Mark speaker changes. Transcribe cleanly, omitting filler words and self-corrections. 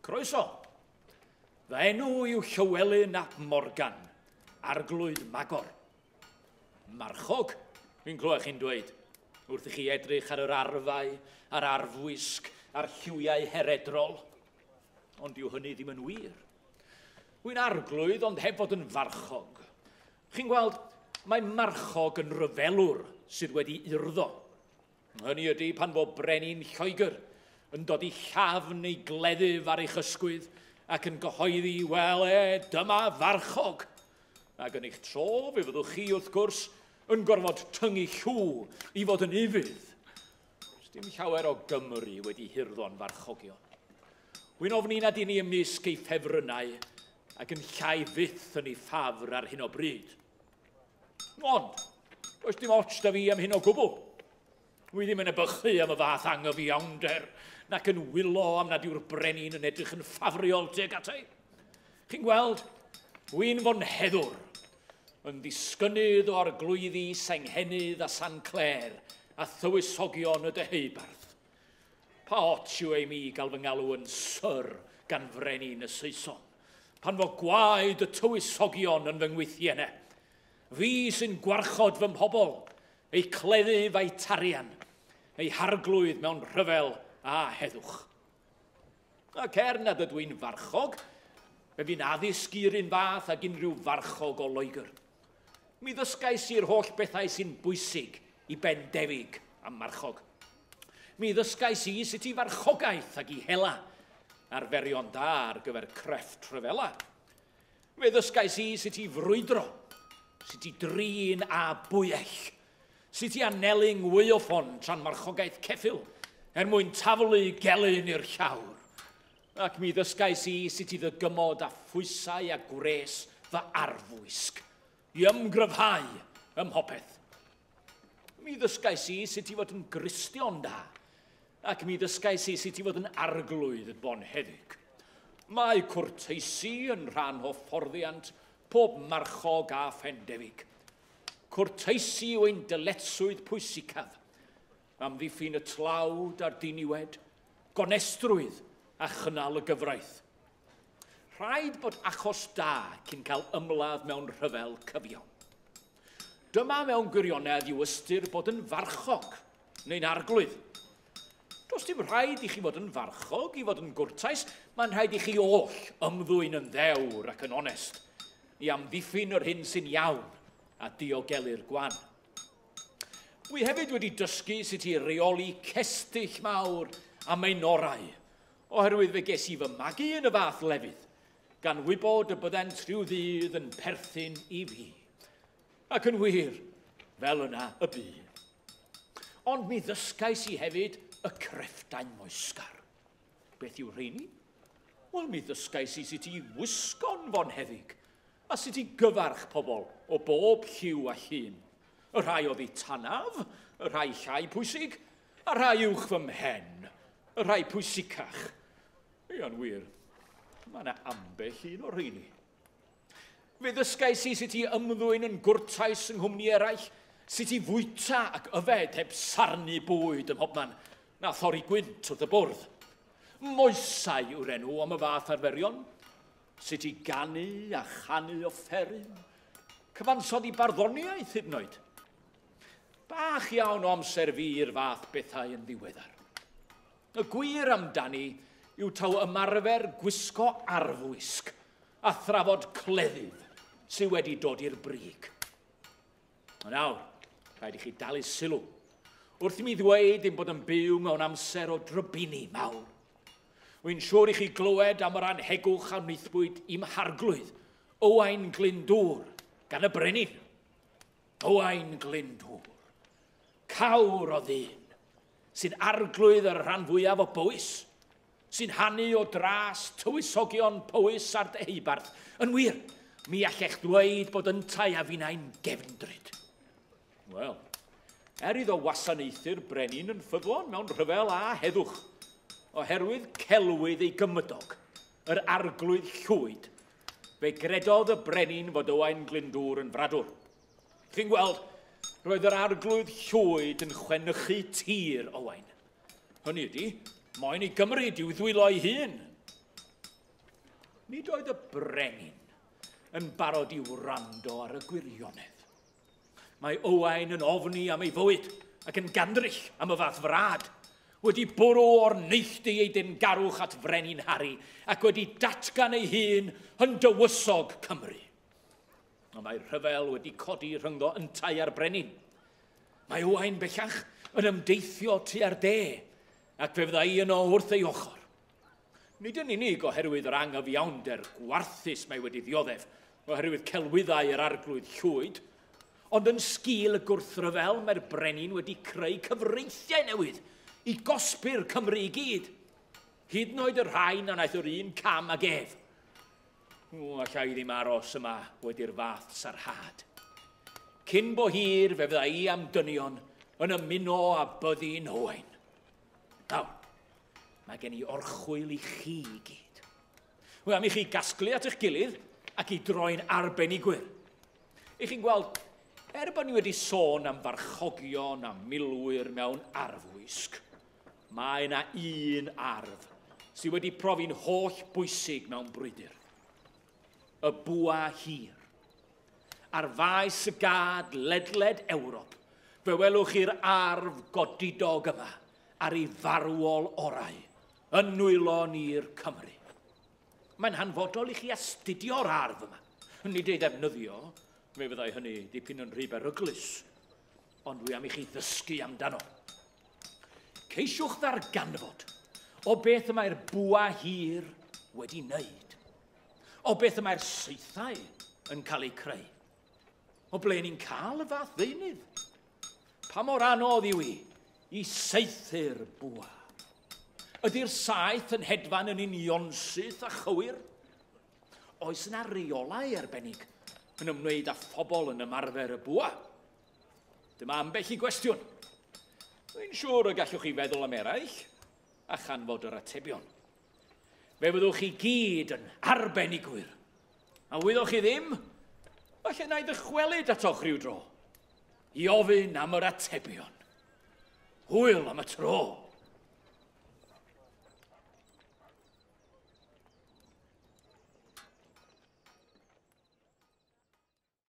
Speaker 1: Croeso. Fy enw yw Llywelyn ap Morgan, Arglwydd Magor. Marchog, fi'n clywed chi'n dweud, wrth i chi edrych ar yr arfau, a'r arfwisg, a'r lliwiau heredrol. Ond dyw hynny ddim yn wir. Wy'n arglwydd ond heb fod yn farchog. Chi'n gweld, mae marchog yn ryfelwr sydd wedi urddo. Hynny ydy pan fo brenin Lloegr yn dod i llafn neu gleddyf ar eich ysgwydd ac yn gyhoeddi, wel e, dyma farchog. Ac yn eich tro, fe fyddwch chi, wrth gwrs, yn gorfod tyngu llw i fod yn ufudd. Does dim llawer o Gymru wedi hurddo'n farchogion. Wy'n ofni nad i ni ymysg ei ffefrynnau ac yn llai fyth yn ei ffafr ar hyn o bryd. Ond, does dim ots da fi am hyn o gwbl. Wi ddim yn ebychu am y fath angyfiawnder, nac yn wylo am nad yw'r brenin yn edrych yn ffafriol tuag ata i. Chi'n gweld, wy'n fonheddwr, yn ddisgynnydd o arglwyddi Senghennydd a San Clêr a thywysogion y Deheubarth. Pa ots yw ei mi gael fy ngalw yn syr gan frenin y Saeson, pan fo gwaed y tywysogion yn fy ngwythiennau? Fi sy'n gwarchod fy mhobl, eu cleddyf a'i tarian, eu harglwydd mewn rhyfel a heddwch. Ac er nad ydw i'n farchog, fe fi'n addysg i'r un fath ag unrhyw farchog o Loegr. Mi ddysgais i'r holl bethau sy'n bwysig i bendefig a marchog. Mi ddysgais i sut i farchogaeth ac i hela, arferion da ar gyfer crefft rhyfela. Fe ddysgais i sut i frwydro, sut i drin a bwyell, sut i anelu ngwyoffon tra'n marchogaeth ceffyl, er mwyn taflu gelyn i'r llawr. Ac mi ddysgais i sut i ddygymod a phwysau a gwres fy arfwisg, i ymgryfhau ym mhopeth. Mi ddysgais i sut i fod yn Gristion da, ac mi ddysgais i sut i fod yn arglwydd bonheddig. Mae cwrteisi yn rhan o fforddiant pob marchog a phendefig. Cwrteisi yw ein dyletswydd pwysicaf, amddiffyn y tlawd a'r diniwed, gonestrwydd a chynnal y gyfraith. Rhaid bod achos da cyn cael ymladd mewn rhyfel cyfiawn. Dyma mewn gwirionedd yw ystyr bod yn farchog neu'n arglwydd. Does dim rhaid i chi fod yn farchog i fod yn gwrtais, mae'n rhaid i chi oll ymddwyn yn ddewr ac yn onest, i amddiffyn yr hyn sy'n iawn a diogelu'r gwan. Wi hefyd wedi dysgu sut i reoli cestyll mawr a maenorau, oherwydd fe ges i fy magu yn y fath lefydd, gan wybod y byddent rhyw ddydd yn perthyn i fi. Ac yn wir, fel yna y bu. Ond mi ddysgais i hefyd y crefftau moesgar. Beth yw rheini? Wel, mi ddysgais i sut i wisgo'n fonheddig, a sut i gyfarch pobl o bob lliw a llun. Y rhai oddi tanaf, y rhai llai pwysig, a rhai uwch fy mhen, y rhai pwysicach. Ia'n wir, mae yna ambell un o'r rheini. Fe ddysgais i sut i ymddwyn yn gwrtais yng nghwmni eraill, sut i fwyta ac yfed heb sarnu bwyd ym mhobman, na thorri gwynt wrth y bwrdd. Moesau yw'r enw am y fath arferion, sut i ganu a chanu offeryn, cyfansoddi barddoniaeth hyd yn oed. Bach iawn o amser fi i'r fath bethau yn ddiweddar. Y gwir amdani yw taw ymarfer gwisgo arfwisg a thrafod cleddyf sydd wedi dod i'r brig. Nawr, rhaid i chi dalu sylw wrth i mi ddweud ein bod yn byw mewn amser o drybini mawr. Wy'n siŵr i chi glywed am yr anhegwch a wnaethpwyd i'm harglwydd, Owain Glyndŵr, gan y brenin. Owain Glyndŵr, cawr o ddyn, sy'n arglwydd ar y rhan fwyaf o Bowys, sy'n hanu o dras tywysogion Powys a'r Deheubarth. Yn wir, mi allech ddweud bod yntau a finnau'n gefndryd. Wel, er iddo wasanaethu'r brenin yn ffyddlon mewn rhyfel a heddwch, oherwydd celwydd ei gymydog, yr arglwydd Llwyd, fe gredodd y brenin fod Owain Glyndŵr yn fradwr. Chi'n gweld, roedd yr arglwydd Llwyd yn chwenychu tir Owain. Hynny ydy, moyn ei gymryd i'w ddwylo ei hun. Nid oedd y brenin yn barod i wrando ar y gwirionedd. Mae Owain yn ofni am ei fywyd ac yn gandryll am y fath frad, wedi bwrw o'r neilltu ei deyrngarwch at Frenin Harri ac wedi datgan ei hun yn dywysog Cymru. Ond mae rhyfel wedi codi rhyngddo yntau a'r brenin. Mae Owain bellach yn ymdeithio tua'r de, ac fe fydda i yno wrth ei ochr. Nid yn unig oherwydd yr anghyfiawnder gwarthus mae wedi ddioddef, oherwydd celwyddau yr arglwydd Llwyd, ond yn sgil y gwrthryfel mae'r brenin wedi creu cyfreithiau newydd i gosbi'r Cymru i gyd, hyd yn oed y rhai na wnaeth yr un cam ag ef. O, alla i ddim aros yma wedi'r fath sarhad. Cyn bo hir fe fydda i am dynion yn ymuno â byddin Owain. Nawr, mae gen i orchwyl i chi i gyd. Wy am i chi gasglu at eich gilydd ac i droi'n arbenigwyr. I chi'n gweld, er bod ni wedi sôn am farchogion a milwyr mewn arfwisg, mae yna un arf sydd wedi profi'n holl bwysig mewn brwydr. Y bwa hir. Ar faes y gad ledled Ewrop, fe welwch chi'r arf godidog yma ar ei farwol orau yn nwylo ni'r Cymry. Mae'n hanfodol i chi astudio'r arf yma. Nid ei ddefnyddio, fe fyddai hynny dipyn yn rhy beryglus, ond dwi am i chi ddysgu amdano. Ceisiwch ddarganfod o beth y mae'r bwa hir wedi wneud, o beth y mae'r saethau yn cael eu creu, o ble ni'n cael y fath ddeunydd, pa mor anodd yw i i saethu'r bwa. Ydy'r saeth yn hedfan yn unionsyth a chywir? Oes yna reolau arbennig yn ymwneud â phobl yn ymarfer y bwa? Dyma ambell i gwestiwn. Dwi'n siŵr y gallwch chi feddwl am eraill a chanfod yr atebion. Fe fyddwch chi gyd yn arbenigwyr. A wyddoch chi ddim, falle na i ddychwelyd atoch rhyw dro i ofyn am yr atebion. Hwyl am y tro.